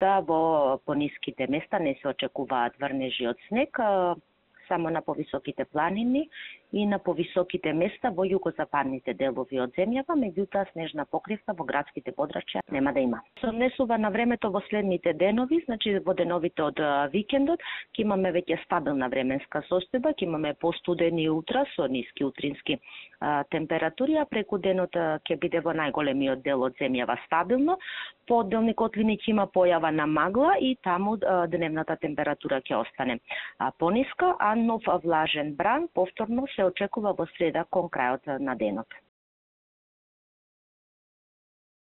да во пониските места не се очекуваат врнежи од снег, само на повисоките планини и на повисоките места во југозападните делови од земјава, меѓутоа снежна покривка во градските подрачја нема да има. Се однесува на времето во следните денови, значи во деновите од викендот, ќе имаме веќе стабилна временска состојба, ќе имаме постудени утра со ниски утрински температури, а преку денот ќе биде во најголемиот дел од земјава стабилно. По одделни котлини ќе има појава на магла и таму дневната температура ќе остане пониска, а нов влажен бран повторно се очекува во среда кон крајот на денот.